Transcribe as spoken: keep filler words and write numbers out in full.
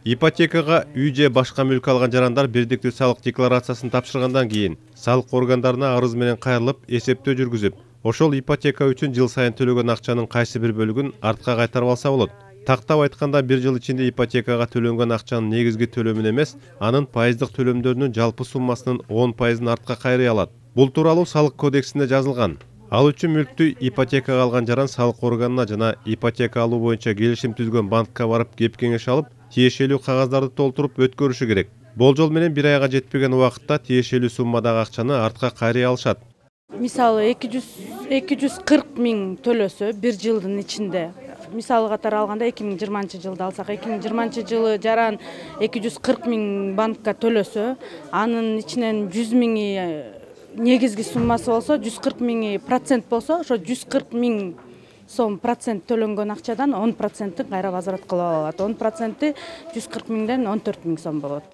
Ипотекага үй же башка мүлк алган жарандар бирдиктүү салык декларациясын тапшыргандан кийин салык органдарына арыз менен кайрылып эсептөө жүргүзүп, ошол ипотека үчүн жыл сайын төлөгөн акчанын кайсы бир бөлүгүн артка кайтарып алса болот. Тактап айтканда бир жыл ичинде ипотекага төлөнгөн акчанын негизги төлөмүн эмес, анын пайыздык төлөмдөрүнүн жалпы суммасынын он пайызын артка кайрый алат. Бул тууралуу салык кодексинде жазылган. Ал үчүн мүлктү ипотекага алган жаран салык органына жана ипотека алуу боюнча келишим түзгөн банкка барып кеп кеңеш алып, тиешелүү кагаздарды толтуруп өткөрүшү керек. Болжол менен бир айга жетпеген убакытта тиешелүү суммадагы акчаны артка кайрый алышат. Мисалы эки жүз кырк миң төлөсө бир жылдын ичинде, мисалы катары алганда эки миң жыйырманчы жылды алсак, эки миң жыйырманчы жылы жаран эки жүз кырк миң банкка төлөсө, анын ичинен жүз миңи негизги суммасы болсо, жүз кырк миңи процент болсо, ошо жүз кырк миң сом процент төлөнгөн акчадан он процентин кайра возврат кылып алат. он проценти жүз кырк миңден он төрт миң сом болот.